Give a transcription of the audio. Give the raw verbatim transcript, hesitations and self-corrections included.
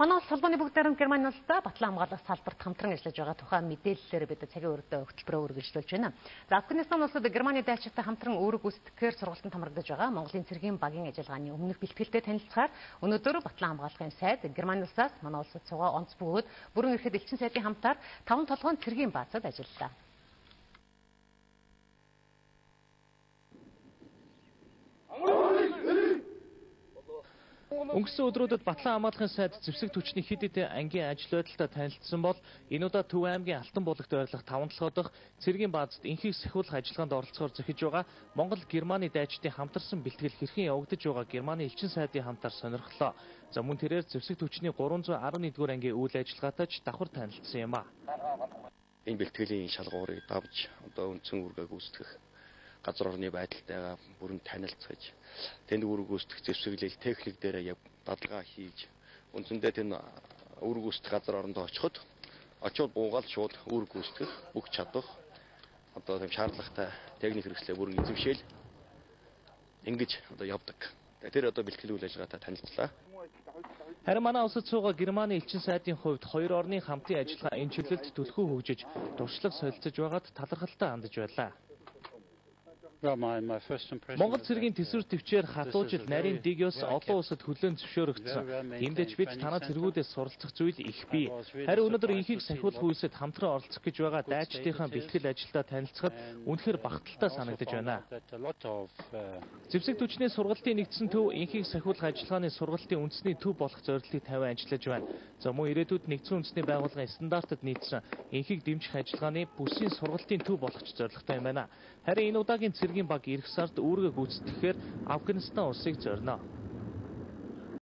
Манай улс холбооны бүгд найрамд Германы улстай батлан хамгаалах салбарт хамтран ажиллаж байгаа тухай мэдээллээр бид цагийн өрөөдөө хөтөлбөрөөр үргэлжлүүлж байна. За Афганистан улсад Германы дайчтай хамтран үүрэг гүйцэтгэхээр сургалтанд хамрагдаж байгаа Монголын цэргийн багийн ажиллагааны өмнөх бэлтгэлтэй танилцахаар өнөөдөр батлан хамгаалахын сайд Германы улсаас манай улсад цугаа онц бөгөөд бүрэн эрхэд элчин сайдын хамтаар таван толгойн цэргийн баазад ажиллалаа. Өнгөрсөн өдрүүдэд батлан хамгаалахын сайд зэвсэг түвшний хэд хэдэн ангийн ажил байдалтай танилцсан бол энэ удаа Төв аймгийн Алтан булагт байрлах таван толгой дахь цэргийн баазад инхийг сахиулах ажиллагаанд оролцохоор зохиж байгаа Монгол Германы дайчдын хамтарсан бэлтгэл хэрхэн явагдаж байгаа Германы элчин сайдын хамтаар сонирхлоо. За мөн тэрээр зэвсэг түвшний гурван зуун арван нэгдүгээр ангийн үйл ажиллагаатай ч давхар танилцсан юм а. Энэ бэлтгэлийн шалгуурыг давж одоо үндсэн үүргээ гүйцэтгэх газар орны байдалтайгаа бүрэн танилцаж тэнд үүрэг гүйцэтгэх зэвсэглэл техник дээр дадлага хийж үндсэндээ тэнд үүрэг гүйцэтгэх газар оронд очиход очиод буугаал шууд үүрэг гүйцэтгэх бүх чадвар одоо тийм шаардлагатай техник хэрэгслээ бүрэн эзэмшээл ингэж одоо явдаг. Тэр одоо бэлтгэл үйл ажиллагаатай танилцлаа. Харин манай улсад суугаа Германы элчин сайдын хувьд хоёр орны хамтын ажиллагаа энэ чиглэлд түлхүү хөгжиж дуршлаг солилцож байгаад талархалтай хандж байлаа. Монгол цэргийн төсвөр төвчээр хатуужид нарийн дэгёс олон улсад хүлээн зөвшөөрөгдсөн. Тиймдээч бид танаа цэргүүдээс суралцах зүйл их бий. Харин өнөөдөр инхийг сахиулах үйлсэд хамтран оролцох гэж байгаа дайчдынхаа бэлтгэл ажилдаа танилцахад үнэхээр багталтай санагдаж байна. Зэвсэг түвшний сургалтын нэгдсэн төв инхийг сахиулах ажиллагааны сургалтын үндэсний төв болох зорилтыг тавиан ажиллаж байна. За мөн ирээдүйд нэгдсэн үндэсний байгууллагын стандартад нийцсэн инхийг дэмжих ажиллагааны бүсийн сургалтын төв болох ч зорилготой юм байна. Харин энэ удаагийн цэргийн баг ирэх сард үүргээ гүйцэтгэхээр Афганистан улсыг зорино.